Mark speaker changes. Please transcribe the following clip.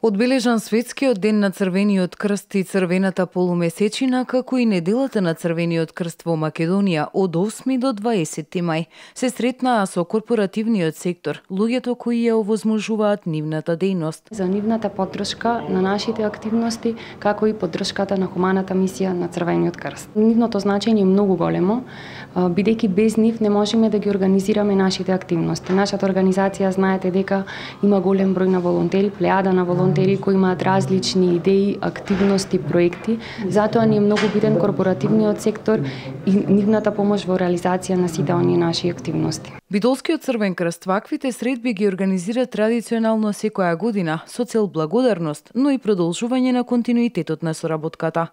Speaker 1: Одбележан светскиот ден на Црвениот крст и Црвената полумесечина, како и неделата на Црвениот крст во Македонија од 8 до 20 мај, се сретнаа со корпоративниот сектор, луѓето кои ја овозможуваат нивната дејност.
Speaker 2: За нивната поддршка на нашите активности, како и поддршката на хуманата мисија на Црвениот крст. Нивното значење е многу големо, бидејќи без нив не можеме да ги организираме нашите активности. Нашата организација, знаете дека има голем број на волонтери, плејада на волонтери кои имаат различни идеи, активности, проекти. Затоа ни е многу битен корпоративниот сектор и нивната помош во реализација на сите оние наши активности.
Speaker 1: Битолскиот Црвен крст ваквите средби ги организира традиционално секоја година со цел благодарност, но и продолжување на континуитетот на соработката.